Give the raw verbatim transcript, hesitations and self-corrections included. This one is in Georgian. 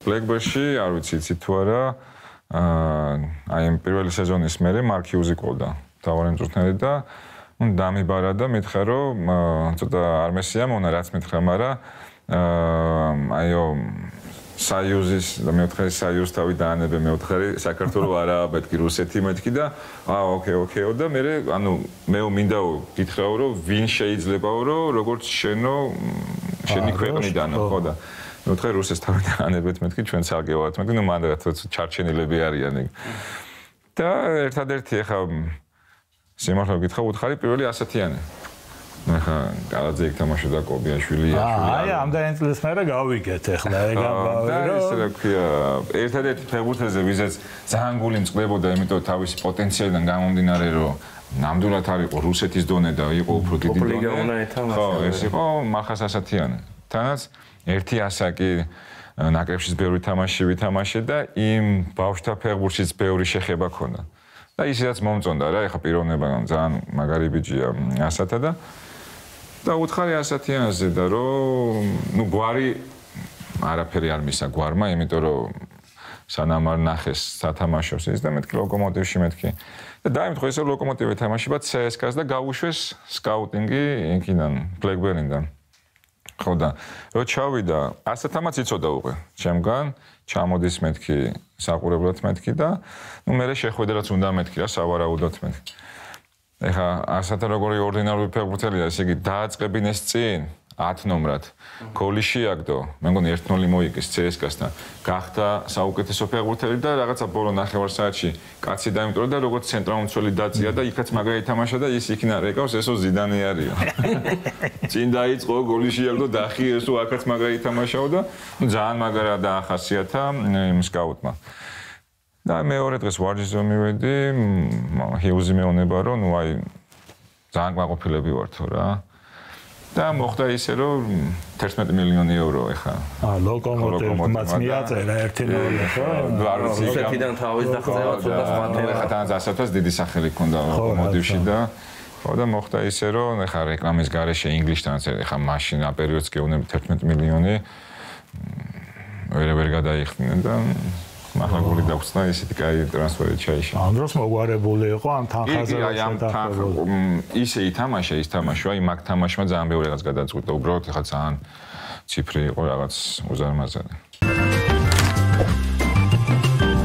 Blackbird-ში არ ვიცი იცით თუ არა აი ამ პირველი სეზონის მერე მარკ ჰიუზი ყოლდა თავარი მწვრთნელი და ნუ დამიბარა და მითხრა რომ ცოტა არ მესია მონა რაც მითხრა მაგრამ აიო საიუზის და მეოთხე საიუზ თავი დაანებე მეოთხე საქართველოს არა მეთქი რუსეთი მეთქი და აა ოკეი ოკეი და მე ანუ მე მინდაო გითხრაო რომ ვინ შეიძლებაო რომ როგორც შენო შენი ქვეყნიდანო ხო და მეოთხე რუსეს თავი დაანებეთ მეთქი ჩვენც აგევათ მეთქი ნუ მანდ რაც ჩარჩენილები არიან და ერთადერთი ახლა სიმართლე გითხრა უთხარი პირველი ასათიანი ახლა კალაძე იქ თამაშობდა კობიაშვილი აი ამდენი წლის მერე გავიგეთ ახლა ეგ ამბავი რომ ისე რა ქვია ერთადერთი ფეხბურთელზე ვიზაც ძალიან გული მწყდებოდა იმიტომ თავისი პოტენციალიდან გამომდინარე რომ ნამდვილად არ იყო რუსეთის დონე და იყო უფრო დიდი დონე ხო ეს იყო მახას ასათიანი თანაც ერთი ასაკი ნაკრებშიც ბევრი თამაში ვითამაშე და იმ ბავშვთა ფეხბურთშიც ბევრი შეხება ქონდა და ისედაც მომწონდა რა ეხა პიროვნება ძალიან მაგარი ბიჭია ასათა და და უთხარი ასათიანზე და რომ ნუ გვარი არაფერი არ მისა გვარმა იმიტომ რომ სანამ არ ნახეს სათამაშოს ის და მეთქი ლოკომოტივში მეთქი და დაიმთხო ესე ლოკომოტივი თამაშება ცსკას და გავუშვეს სკაუტინგი იქიდან ბლეკბერნიდან ხო და რო ჩავიდა ასათამაც იცოდა უკვე ჩემგან ჩამოდის მეთქი საყურებლად მეთქი და ნუ მე შეხვედრაც უნდა მეთქი რა სავარაუდოდ მეთქი ეხა ასათა როგორი ორდინალური ფეხბურთელია ესე იგი დააწყებინეს წინ ათ ნომრად გოლი შეაგდო მე მგონი ერთ ნული მოიგეს ცსკასთან გახდა საუკეთესო ფეხბურთელი და რაღაცა ბოლო ნახევარ საათში კაცი დაიმტვრა და როგორც ცენტრალმცველი დაწია და იქაც მაგარი თამაშა და ის იქნა რეკავს ესო ზიდანი არისო წინ დაიწყო გოლი შეაგდო დახი ესო აქაც მაგარი თამაშაო და ძალიან მაგარა დაახასიათა იმ სკაუტმა და მეორე დღეს ვარჯიშზე მივედი ჰიუზი მეუბნება რომ ნუ აი ძალიან გაყოფილები ვართო რა და მოხდა ისე რომ თერთმეტი მილიონი ევრო ეხა აა ლოკომოტივმაც მიაწერა ერთი ნული ხო არ ვიცი რუსეთიდან თავის დახცევა ცოტა სხვანაირად ეხა თანაც ასათას დიდი სახელი ქონდა ლოკომოტივში და ხო და მოხდა ისე რომ ეხა რეკლამის გარეშე ინგლისშთანაც ეხა მაშინ ამ პერიოდს გეუბნები თერთმეტი მილიონი ვერ ვერ გადაიხდნენ და მაღალი დაგვწნა ისეთი კაი ტრანსფერი ჩაიშა. ამ დროს მოგვარებული იყო ამ თანხაზე ისე ითამაშა ის თამაშვა, აი მაგ თამაშმა ძალიან ბევრი რაღაც გადაწყვიტა. უბრალოდ ეხლა ძალიან ციფრი იყო რაღაც უზარმაზარი.